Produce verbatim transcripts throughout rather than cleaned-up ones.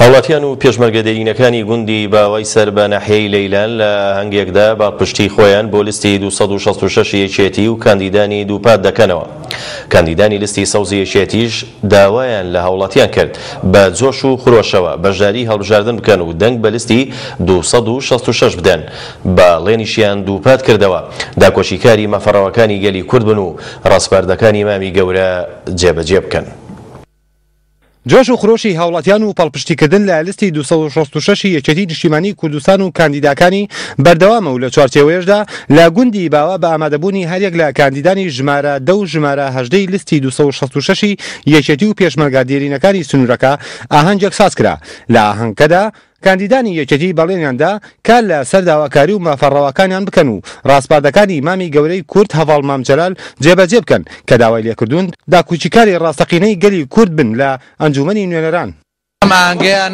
هاوڵاتیان و پێشمەرگە دێرینەکانی گوندی باوای سەر بە ناحیەی لەیلان لە ئاهەنگێکدا پاڵپشتی خۆیان بۆ لیستی دوو سەد و شەست و شەش یەکێتی و کاندیدانی دووپات دەکەنەوە. کاندیدانی لیستی سەوزی یەکێتیش داوایان لە هاوڵاتیان کرد بە جۆش و خرۆشەوە بەشداری هەڵبژاردن بکەن و دەنگ بە لیستی دوو سەد و شەست و شەش بدەن. بەڵێنیشیان دووپات کردەوە داکۆکیکاری مافەڕەواکانی گەلی کورد بن و ڕاسپاردەکانی مامی گەورە جێبەجێ بکەن. جۆش و خرۆشی هاوڵاتیان و پاڵپشتیکردن لە لیستی دوو سەد و شەست و شەش یەکێتی نیشتیمانی کوردستان و کاندیداکانی بەردەوامە و لە چوارچێوەیەشدا لە گوندی باوە بە ئامادەبوونی هەریەک لە کاندیدانی ژمارە دە و ژمارە هەژدەی لیستی دوو سەد و شەست و شەش یەکێتی و پێشمەرگە دێرینەکانی سنوورەکە ئاهەنگێک ساز کرا. لە ئاهەنگەکەدا کاندیدانی یەکێتی بەڵێنیاندا کار لە سەر داواکاری و مافەڕەواکانیان بکەن و ڕاسپاردەکانی مامی گەورەی کورد هەڤاڵ مام جەلال جێبەجێ بکەن کە داوای لێکردوون داکۆکیکاری ڕاستەقینەی گەلی کورد بن لە ئەنجومەنی نوێنەران. ئەم ئاهەنگەیان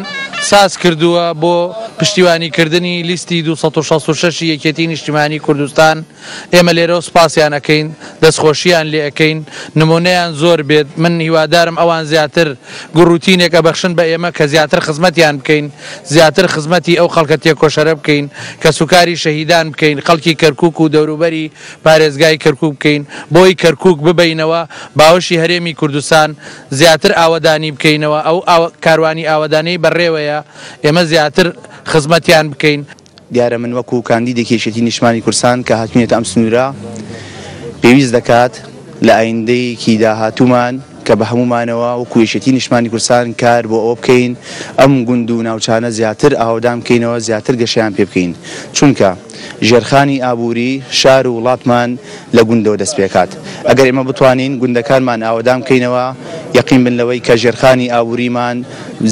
ساز کردووە بۆ پشتیوانیکردنی لیستی دوو سەد و شەست و شەش یەکێتی نیشتیمانی کوردستان. ئێمە لێرەوە سوپاسیان ئەکەین، دەستخۆشیان لێ ئەکەین، نمونەیان زۆر بێت. من هیوادارم ئەوان زیاتر گوڕوتینێک ئەبەخشن بە ئێمە کە زیاتر خزمەتیان بکەین، زیاتر خزمەتی ئەو خەڵکە تێکۆشەرە بکەین، کە سوکاری شەهیدان بکەین، خەڵکی کەرکوک و دەوروبەری پارێزگای کەرکوک بکەین، بۆی کەرکوک ببینەوە باوەشی هەرێمی کوردستان، زیاتر ئاوەدانی بکەینەوە، ئەو کاروانی ئاوەدانی بەڕێوەیە ئێمە زیاتر خزمەتیان بکەین. دیارە من وەکو کاندیدێکی یەکێتی نیشتمانی کوردستان کە هاتوینێتە ئەم سنوورە پێویست دەکات لە ئایندەیەکی داهاتوومان کە بە هەمومانەوە وەکو یەکێتی نیشتمانی کوردستان کار بۆ ئەوە بکەین ئەم گوند و ناوچانە زیاتر ئاوەدان بکەینەوە، زیاتر گەشەیان پێ بکەین، چونکە ژێرخانی ئابووری شار و وڵاتمان لە گوندەوە دەست پێکات. ئەگەر ئێمە بتوانین گوندەکانمان ئاوەدان بکەینەوە، یەقین بن لەوەی کە ژێرخانی ئابووریمان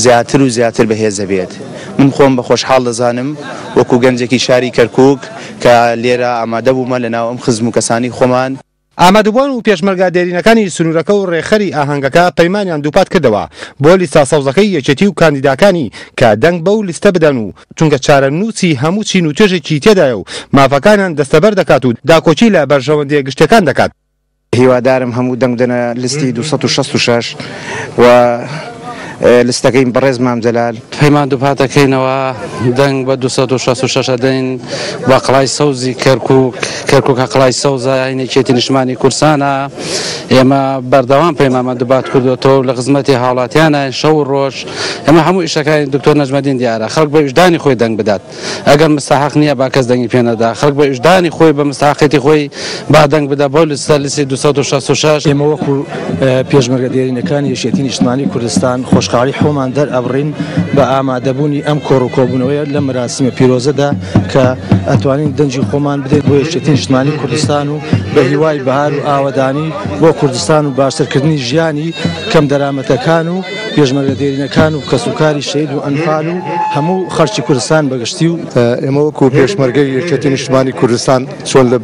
زیاتر و زیاتر بەهێزە بێت. من خۆم بە خۆشحاڵ دەزانم وەکو گەنجێکی شاری کەرکوک کە لێرە ئامادە بوومە لە ناو ئەم خزم و کەسانی خۆمان. ئامادەبووان و پێشمەرگە دێرینەکانی سنوورەکە و ڕێکخەری ئاهەنگەکە پەیمانیان دووپات کردەوە بۆ لیستە سەوزەکەی یەکێتی و کاندیداکانی کە دەنگ بەو لیستە بدەن و چونکە چارەنووسی هەموو چین و توێژێکی تێدایە و مافەکانیان دەستەبەر دەکات و داکۆکی لە بەرژەوەندیە گشتیەکان دەکات. هیوادارم هەموو دەنگ بدەنە لیستی دوو سەد و شەست و شەش و لیستەکەی بەڕێز مام جەلال. پەیمان دووپات دەکەینەوە دەنگ بە دوو سەد و شەست و شەش دەین بە قەڵای سەوزی کەرکوک. کەرکوک قەڵای سەوزە یەکێتی نیشتمانی کوردستانە. ئێمە بەردەوام پەیمانمان دووپات کردوەتەوە لە خزمەتی هاوڵاتیانە شەو و ڕۆژ. ئێمە هەموو ئیشەکانی دکتۆر نەجمەدین دیارە خەڵک بە ویژدانی خۆی دەنگ بدات. ئەگەر مستحق نییە با کەس دەنگی پێ نەدا، خەڵک بە ویژدانی خۆی بە مستحقێتی خۆی با دەنگ بدا بۆ لیستە لیستی دوو سەد و شەست و شەش. ئێمە وەکو پێشمەرگە دێرینەکانی یەکێتی نیشتمانی کوردستان خۆشحاڵی خۆمان دەرئەبڕین بە ئامادەبوونی ئەم کۆڕ و کۆبوونەوەیە لە مەراسیمە پیرۆزەدا کە ئەتوانین دەنگی خۆمان بدەین بۆ یەکێتی نیشتمانی کوردستان و بە هیوای بەهار و ئاوەدانی بۆ کوردستان و باشترکردنی ژیانی کەم دەرامەتەکان و پێشمەرگە دێرینەکان و کەسوکاری شەهید و ئەنفال و هەموو خەڵکی کوردستان بەگشتی. و ئێمە وەکو پێشمەرگەی یەکێتی نیشتمانی کوردستان چۆن لە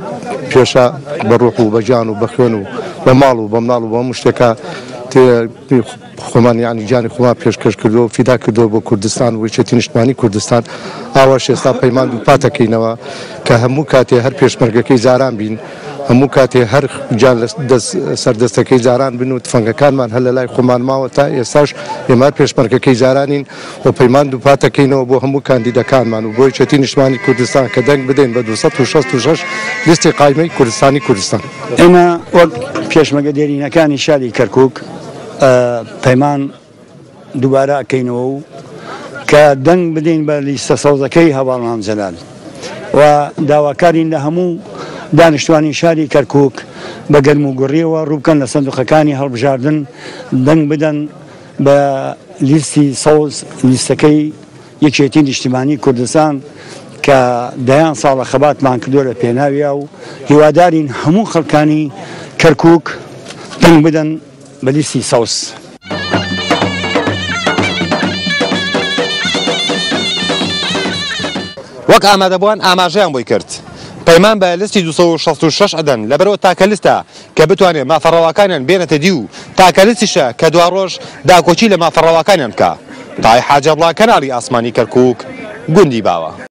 پێشە بە ڕۆح و بە گیان و بە خوێن و بە ماڵ و بە مناڵ و بە هەموو شتێکە خۆمان یعنی گیانی خۆمان پێشکەش کردووە و فیدا کردووە بۆ کوردستان و یەکێتی نیشتمانی کوردستان. ئاواش ئێستا پەیمان دووپات دەکەینەوە کە هەموو کاتێ هەر پێشمەرگەکەی جاران بین، هەموو کاتێ هەر گیان لە سەردەستەکەی جاران بن و تفەنگەکانمان هەر لە لای خۆمان ماوە تا ئێستاش ئێمە پێشمەرگەکەی جارانین و پەیمان دووپات دەکەینەوە بۆ هەموو کاندیدەکانمان و بۆ یەکێتی نیشتمانی کوردستان کە دەنگ بدەین بە دوو سەد و شەست و شەش لیستی قایمەی کوردستانی کوردستان. ئێمە وەک پێشمەرگە دێرینەکانی شاری کەرکوک پەیمان دووبارە ئەکەینەوە و کە دەنگ بدەین بە لیستە سەوزەکەی هەڤاڵ مام جەلال و داواکارین لە هەموو دانیشتوانی شاری کەرکوک بە گەرم و گوڕیەوە ڕووبکەن لە سندوقەکانی هەڵبژاردن دەنگ بدەن بە لیستی سەوز، لیستەکەی یەکێتی نیشتیمانی کوردستان کە دەیان ساڵە خەباتمان کردووە لە پێناویا و هیوادارین هەموو خەڵکانی کەرکوک دەنگ بدەن بە لیستی سەوز. وەک ئامادەبووان ئاماژەیان بۆی کرد پەیمان بە لیستی دوو سەد و شەست و شەش ئەدەن لەبەرەوە تاکە لیستە کە بتوانێت مافەڕەواکانیان بێنێتە دی و تاکە لیستیشە کە دوا ڕۆژ داکۆکی لە مافەڕەواکانیان بکە. تای حاجەبڵا، کەناڵی ئاسمانی کەرکوک، گوندی باوە.